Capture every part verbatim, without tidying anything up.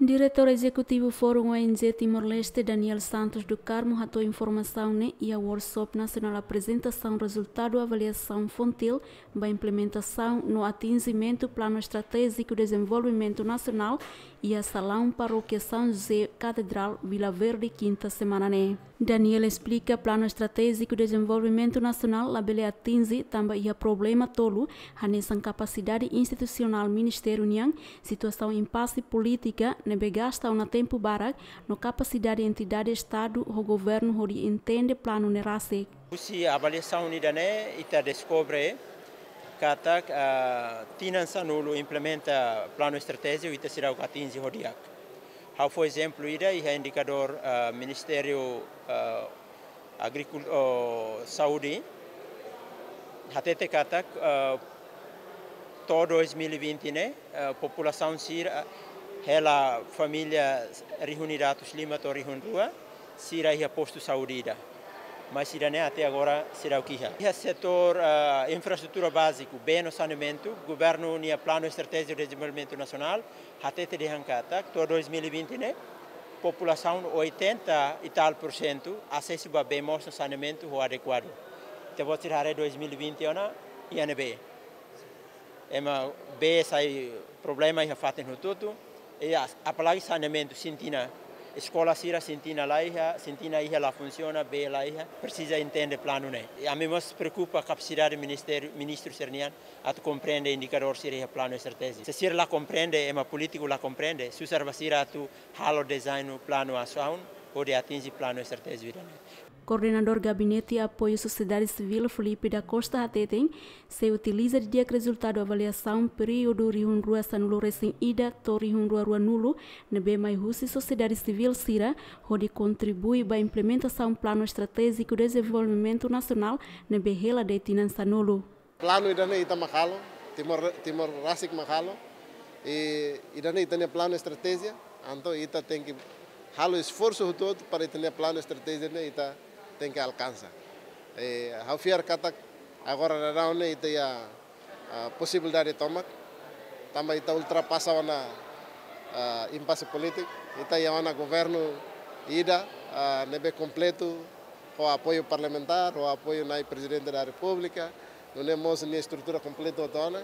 Diretór Ezekutivu Fórum O N G Timor-Leste, Daniel Santos do Carmo, hato'o informasaun ne'e iha workshop nasionál aprezentasaun rezultadu avaliasaun FONGTIL ba implementasaun no atinjimentu Planu Estratéjiku Dezenvolvimentu Nasionál iha salaun Parókia São José Katedrál, Vila Verde, kinta semana ne'e. Daniel esplika Planu Estratéjiku Dezenvolvimentu Nasionál labele atinje tanba iha problema tolu, hanesan kapasidade institusionál ministériu nian, situasaun impase polítika ne'ebé gasta ona tempu barak, no kapasidade entidade Estadu ho governu hodi entende planu ne'e rasik. Husi avaliasaun ida-ne'e, ita deskobre katak, ah, tinan sanulu implementa planu estratéjiku, ita seidauk atinje ho di'ak. Ha'u fó ezemplu ida, iha indikadór, ah, Ministériu, ah, Agrikul-, oh, Saúde, hatete katak, ah, to'o dois mil e vinte ne'e, ah, populasaun sira, hela família rihun ida atus lima to'o rihun rua, sira iha postu saúde ida. Mas ida-ne'e até agora seidauk iha. Iha setór, ah, infraestrutura báziku, bee no saneamentu, governu nia Planu Estratéjiku Dezenvolvimentu Nasionál hatete dehan katak to'o dois mil e vinte ne'e, populasaun oitenta e tal por cento asesu ba bee moos no saneamentu ho adekuadu. Ita-boot sira haree dois mil e vinte ona, iha ne'ebé? Ema, bee sai problema iha fatin hotu-hotu. I as-, apalagi saneamentu, sintina. Eskola sira sintina la iha, sintina iha la funsiona, bee la iha. Presiza entende planu ne'e. I ami mós preokupa kapasidade ministériu, ministru sira-nian atu komprende indikadór sira iha planu estratéjiku. Se sira la komprende, ema polítiku la komprende, susar ba sira atu halo dezeñu planu asaun hodi atinje planu estratéjiku ida-ne'e. Koordenadór Gabinete Apoiu Sosiedade Sivíl, Filipe da Costa, hateten, sei utiliza didi'ak rezultadu avaliasaun períodu rihun rua sanulu resin ida to'o rihun rua ruanulu, ne'ebé mai husi sosiedade sivíl sira, hodi kontribui ba implementasaun Planu Estratéjiku Dezenvolvimentu Nasionál ne'ebé hela de'it tinan sanulu. Planu ida-ne'e ita mak halo, Timor, Timor rasik mak halo. I ida-ne'e ita-nia planu estratéjia, entaun ita tenke halo esforsu hotu-hotu para ita-nia planu estratéjia ne'e ita tenke alkansa. I ha'u fiar katak agora daudaun ne'e ita iha, ah, posibilidade tomak, tanba ita ultrapasa ona, ah, impase polítiku, ita iha ona governu ida, ah, ne'ebé kompletu, ho apoiu parlamentár, ho apoiu Na'i Prezidente da Repúblika, nune'e mós nia estrutura kompletu hotu ona.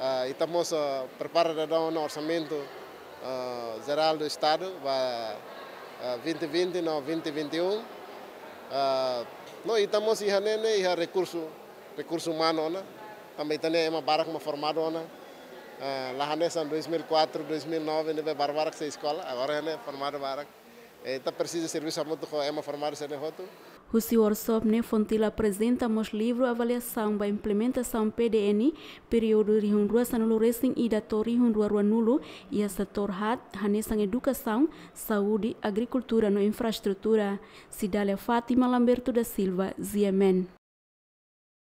Ah, ita mós, ah, prepara daudaun ona orsamentu, ah, jerál do Estadu ba, ah, vinte vinte no vinte vinte e um. Ah, no ita mós iha ne'e, ne'e iha rekursu, rekursu umanu ona. Tanba ita-nia ema barak mak formadu ona. Ah, la hanesan dois mil e quatro, dois mil e nove, ne'ebé barak-barak sei eskola, agora ne'e formadu barak. Eh, ita presiza servisu hamutuk ho ema formadu sira-ne'e hotu. Husi workshop ne'e FONGTIL aprezenta mós livru avaliasaun ba implementasaun P D N, períodu rihun rua sanulu resin ida to'o rihun rua ruanulu, iha setór haat, hanesan edukasaun, saúde, agrikultura no infraestrutura. Cidália Fátima, Lamberto da Silva, G M N.